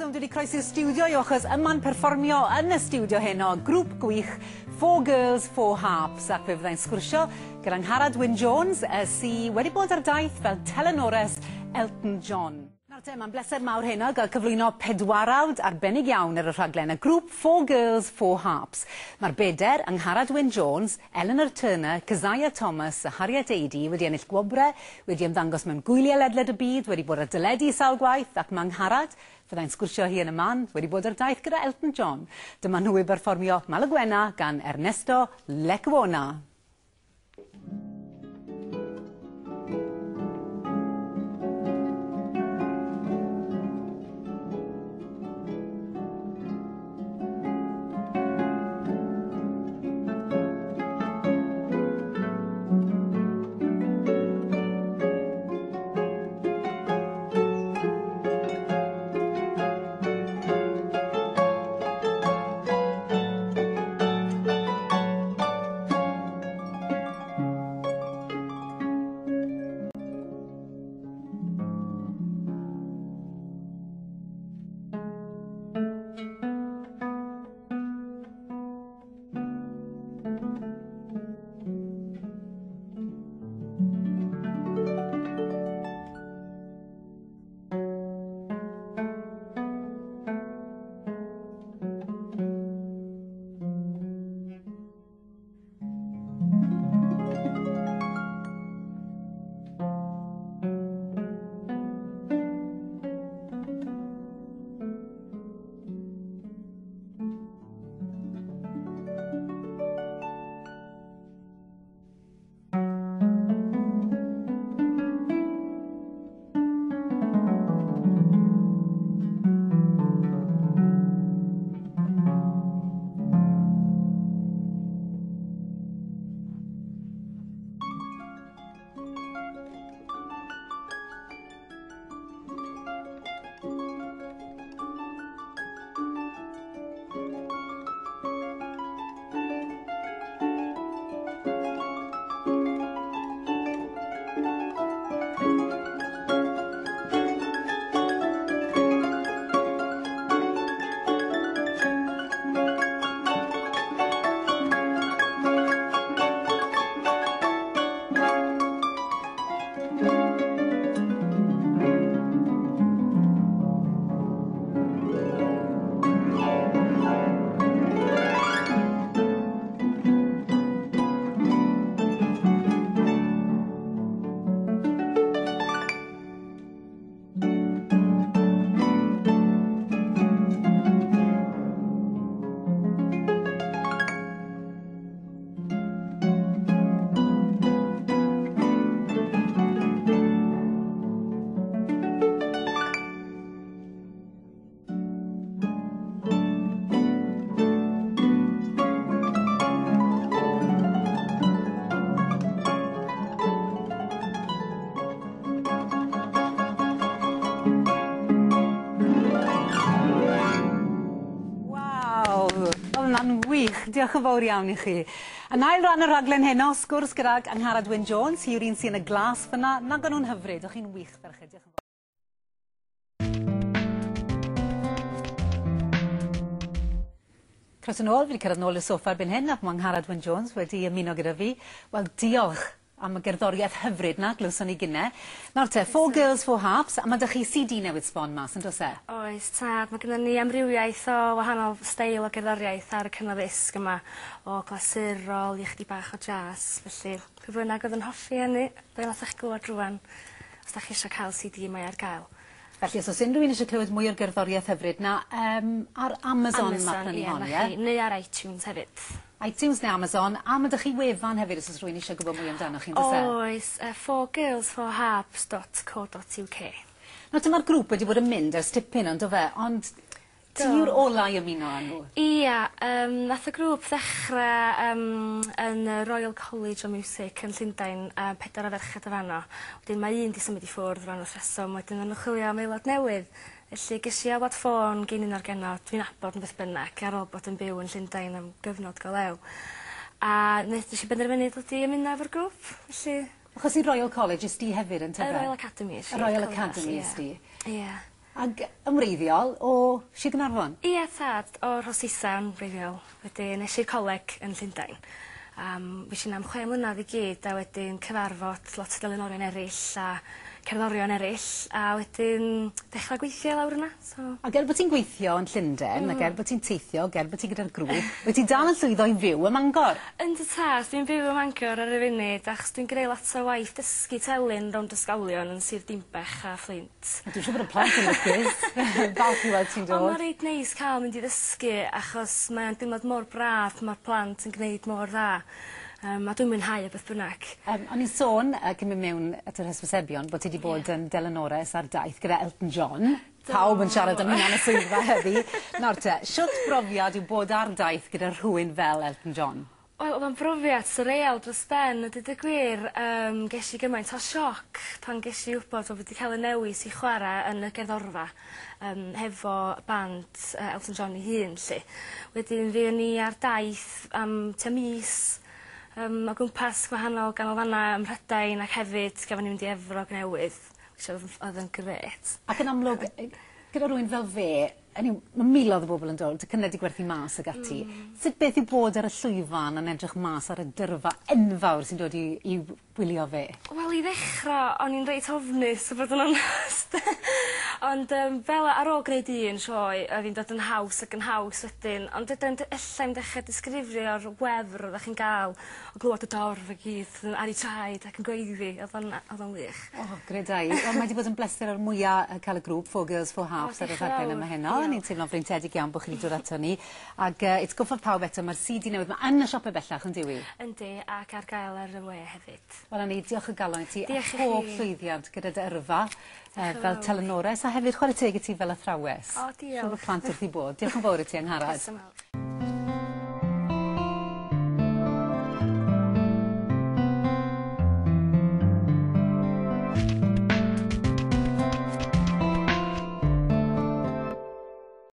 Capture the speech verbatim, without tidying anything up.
reswm dwi wedi croesi'r stiwdio yw achos yma'n perfformio yn y stiwdio heno grŵp gwych Four Girls, Four Harps, ac fe fyddai'n sgwrsio gyda Angharad Wyn Jones sy wedi bod ar daith fel telynores Elton John. Nawr te, mae'n bleser mawr heno gael cyflwyno pedwarawd arbennig iawn ar y rhaglen, y grŵp Four Girls, Four Harps. Mae'r beder, Angharad Wyn Jones, Eleanor Turner, Keziah Thomas a Harriet Adey wedi ennill gwobrau, wedi ymddangos mewn gwyliau ledled y byd, wedi bod ar deledu sawl gwaith, ac mae Angharad, fyddai'n sgwrsio hi yn y man, wedi bod ar daith gyda Elton John. Dyma nhw i berfformio Malaguena gan Ernesto Lecuona. Diolch yn fawr iawn i chi. Yn ail ran y rhaglen heno, sgwrs gydag Angharad Wyn Jones, hi yw'r un sy'n y glas fyna. Nag o'n nhw'n hyfryd, o'ch chi'n wych ferched. Diolch yn fawr. Croeso nôl, fi wedi cyrraedd nôl i'r soffa erbyn hyn, ac mae Angharad Wyn Jones wedi ymuno gyda fi. Wel, diolch am y gerddoriaeth hyfryd na, glywson ni gynne. Nawr te, Four Girls, Four Harps, a mae 'da chi C D newydd sbon mas, yn does e? Oes, tad. Mae gennym ni amrywiaeth o wahanol steil o gerddoriaeth ar y cyngor ddisg yma, o glasurol i chydig bach o jazz, felly pwy bynnag oedd yn hoffi hynny, be wnaethoch chi glywed rŵan, os da chi eisiau cael C D, mae ar gael. Felly, os oes unrhyw un eisiau clywed mwy o'r gerddoriaeth hyfryd na, um, ar Amazon, Amazon mae prynu ie, hon, na ie? chi, neu ar iTunes hefyd. iTunes neu Amazon, a mae 'da chi wefan hefyd os oes rhywun eisiau gwybod mwy amdano chi, yn does e? Oes, uh, four girls four harps dot co dot U K. Nawr, dyma'r grŵp wedi bod yn mynd ers tipyn, ond do fe, ond ti yw'r ola i ymuno â nhw? Ia, um, nath y grŵp ddechrau um, yn y Royal College of Music yn Llundain, a pedwar o ferched o fanno. Wedyn mae un 'di symud i ffwrdd rhan o'r rheswm, wedyn o'n nhw'n chwilio am aelod newydd. Felly ges i alwad ffôn gin un o'r genod, dwi'n nabod yn beth bynnag, ar ôl bod yn byw yn Llundain am gyfnod go lew. A nes i benderfynu dod i ymuno efo'r grŵp, felly... Achos i Royal College ys di hefyd yn Y tyfe? Royal Academy. Y Royal Academy ys di. Ie. Ag yn wreiddiol o Sir Gaernarfon? Ie tad, o Rhosisa yn wreiddiol. Wedyn es i'r coleg yn Llundain. Um, fues i 'na am chwe mlynadd i gyd a wedyn cyfarfod lot o delynorion eraill a cerddorion eraill a wedyn dechra gweithio lawr yna so... Ac er bod ti'n gweithio yn Llundain mm. ac er bod ti'n teithio, ac er bod ti gyda'r grŵp, wyt ti dal yn llwyddo i fyw ym Mangor? Yndw tad, dwi'n byw ym Mangor ar y funud achos dwi'n greu lot o waith dysgu telyn rownd ysgolion yn Sir Dinbech a Fflint. A dwi'n siŵr bod y plant yn lwcus. Falch i weld ti'n dod. Ond mae'n reit neis cael mynd i ddysgu achos mae'n deimlad mor braf, mae'r plant yn gwneud mor dda. Um, a dwi'n mwynhau o beth bynnag. Um, o'n i'n sôn, uh, cyn mynd mewn at yr hysbysebion, bod ti wedi bod yeah. yn delynores ar daith gyda Elton John. Do. Pawb yn siarad am hynna yn y swyddfa heddi. Nawr te, shwt brofiad yw bod ar daith gyda rhywun fel Elton John? Wel, oedd o'n brofiad surreal dros ben, a dweud y gwir, um, ges i gymaint o sioc pan ges i wybod bod wedi cael y newis i chwarae yn y gerddorfa um, hefo band uh, Elton John ei hun, 'lly. Wedyn fuon ni ar daith am tua mis um, o gwmpas gwahanol ganolfannau ym Mhrydain ac hefyd gafon ni mynd i Efrog Newydd, which oedd, oedd yn grêt. Ac yn amlwg, gyda rhywun fel fe, hynny yw, mae miloedd o bobl yn dod, tocynnau 'di gwerthu mas ag ati. Mm. Sut beth yw bod ar y llwyfan yn edrych mas ar y dyrfa enfawr sy'n dod i, i wylio fe? Wel, i ddechrau, o'n i'n reit ofnus, o fod yn onest. Ond um, fel ar ôl gwneud un sioe, oedd hi'n dod yn haws ac yn haws wedyn. Ond wedyn, ella i'm dechrau disgrifio'r wefr oeddech chi'n gael o glywed y dorf i gyd ar eu traed ac yn gweiddi. Oedd o'n oedd o'n wych. O, oh, greda i. Wel, mae wedi bod yn bleser o'r mwyaf cael y grŵp Four Girls, Four Harps ar y rhaglen yma heno. Ni'n teimlo'n freintiedig iawn bod chi wedi dod ato ni. Ac uh, atgoffa pawb eto, mae'r C D newydd yma yn y siopau bellach, yn dyw i? Yndi, ac ar gael ar y we hefyd. Wel, ni, diolch o galon i ti. Diolch i chi. A pob llwyddiant gyda dy yrfa uh, fel telynores a hefyd chwarae teg i ti fel athrawes. O, diolch. Siŵr bod plant wrth eu bodd. Diolch yn fawr i ti, Angharad. Diolch yn fawr.